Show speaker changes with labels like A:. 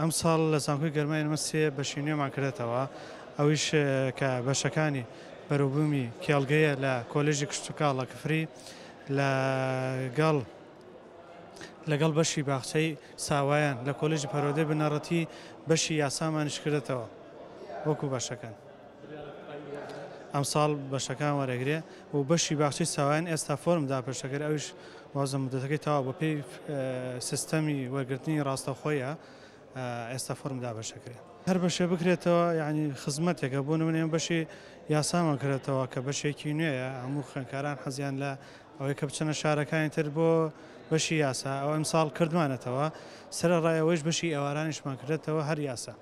A: ئەمساڵ لە زانکۆی گەرمای ئێمە سێ بەشی نوێمان کردێتەوە، ئەویش کە بەشەکانی بەرەوبوومی کێڵگەیە لە کۆلێژی کشتوکاڵ لە کفری، لەگەڵ بەشی باخچەی ساوایان لە کۆلێژی پەروەردەی بنەڕەتی، بەشی یاسامانیش کردێتەوە وەکو بەشەکان. ئەمساڵ بەشەکان وەرەگرێ و بەشی باخچەی ساوایان ئێستا فۆرم داپێشەکرد، ئەویش وازە مدەتەکەی تەواو بە پێی سیستەمی وەرگرتنی ڕاستەوخۆیە ئێستا فۆرم دابەشەکرێ. هەر بەشێ بکرێتەوە یعنی خزمەتێکە. بۆ نمونە ئێمە بەشی یاسامان کرێتەوە کە بەشێکی نوێیە، هەموو خوێندکاران حەزیان لە ئەوەی کە بچنە شارەکانی تر بۆ بەشی یاسا، ئەو ئەمساڵ کردمانەتەوە. سەرەڕای ئەوەیش بەشی ئێوارانیشمان کردێتەوە هەر یاسا.